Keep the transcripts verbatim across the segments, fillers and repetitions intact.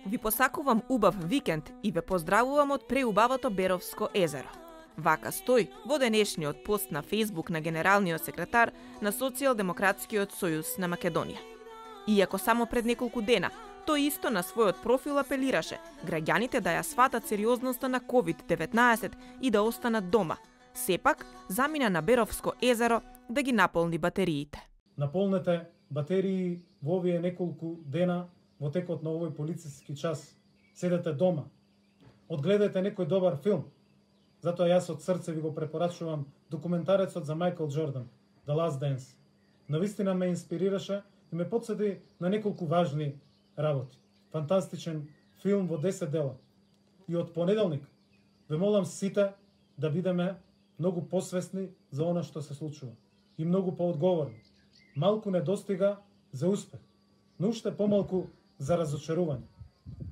Ви посакувам убав викенд и ве поздравувам од преубавото Беровско езеро. Вака стои во денешниот пост на Фејсбук на генералниот секретар на Социјалдемократскиот сојуз на Македонија. Иако само пред неколку дена, тој исто на својот профил апелираше граѓаните да ја сватат сериозноста на ковид деветнаесет и да останат дома, сепак замина на Беровско езеро да ги наполни батериите. Наполнете батерии во овие неколку дена во текот на овој полициски час. Седете дома, одгледајте некој добар филм. Затоа јас од срце ви го препорачувам документарецот за Мајкл Џордан, The Last Dance. Навистина ме инспирираше и ме потсети на неколку важни работи. Фантастичен филм во десет дела. И од понеделник ве молам сите да бидеме многу посвесни за она што се случува и многу поодговорни. Малку не достига за успех, но уште помалку за разочарување.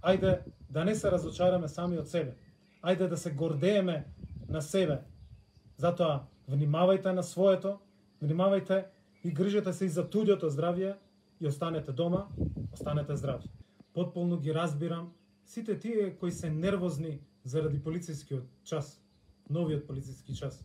Ајде да не се разочараме сами од себе. Ајде да се гордееме на себе. Затоа внимавајте на своето, внимавајте и грижете се и за туѓото здравје и останете дома, останете здрави. Потполно ги разбирам сите тие кои се нервозни заради полицискиот час, новиот полициски час.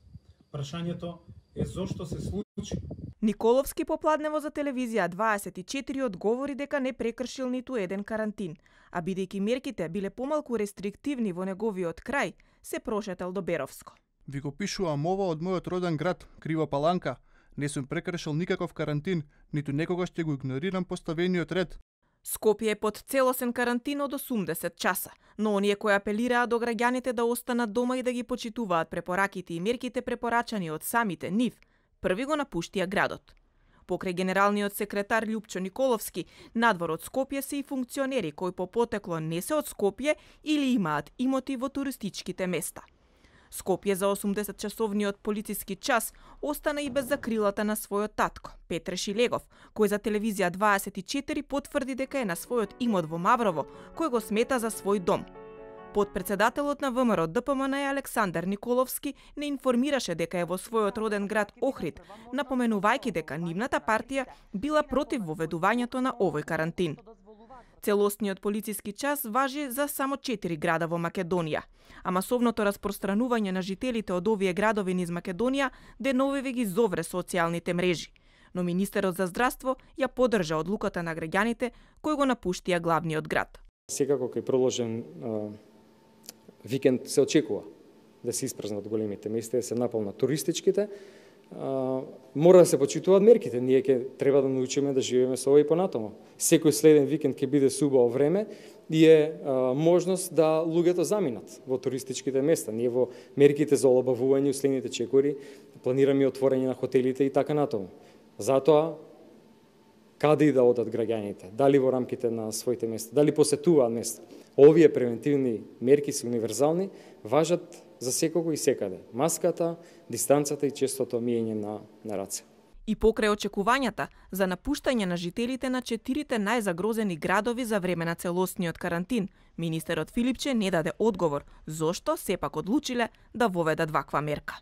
Прашањето е зошто се случи. Николовски попладнево за телевизија дваесет и четири одговори дека не прекршил ниту еден карантин, а бидејќи мерките биле помалку рестриктивни во неговиот крај, се прошетал до Беровско. Ви го пишувам ова од мојот роден град, Крива Паланка. Не сум прекршил никаков карантин, ниту некогаш ќе го игнорирам поставениот ред. Скопје е под целосен карантин од осумдесет часа, но оние кои апелираа до граѓаните да останат дома и да ги почитуваат препораките и мерките препорачани од самите нив, први го напуштија градот. Покрај генералниот секретар Љупчо Николовски, надвор од Скопје се и функционери кои по потекло не се од Скопје или имаат имоти во туристичките места. Скопје за осумдесет часовниот полициски час остана и без закрилата на својот татко, Петре Шилегов, кој за телевизија дваесет и четири потврди дека е на својот имот во Маврово, кој го смета за свој дом. Подпредседателот на ВМРО Д П М Н Александар Николовски не информираше дека е во својот роден град Охрид, напоменувајќи дека нивната партија била против воведувањето на овој карантин. Целосниот полициски час важи за само четири града во Македонија, а масовното распространување на жителите од овие градови низ Македонија деновиве ги зовре социјалните мрежи. Но министерот за здравство ја поддржа одлуката на граѓаните кои го напуштија главниот град. Секако кај продолжен викенд се очекува да се испразнат големите места, да се наполнат туристичките. Uh, мора да се почитуваат мерките. Ние ќе треба да научиме да живееме со ова и понатаму. Секој следен викенд ќе биде субаво време и е uh, можност да луѓето заминат во туристичките места. Ние во мерките за олабавување следните чекори планираме отворање на хотелите и така натаму. Затоа каде и да одат граѓаните, дали во рамките на своите места, дали посетуваат места. Овие превентивни мерки се универзални, важат за секого и секаде. Маската, дистанцата и честото миење на, на раце. И покрај очекувањата за напуштање на жителите на четирите најзагрозени градови за време на целосниот карантин, министерот Филипче не даде одговор зошто сепак одлучиле да воведат ваква мерка.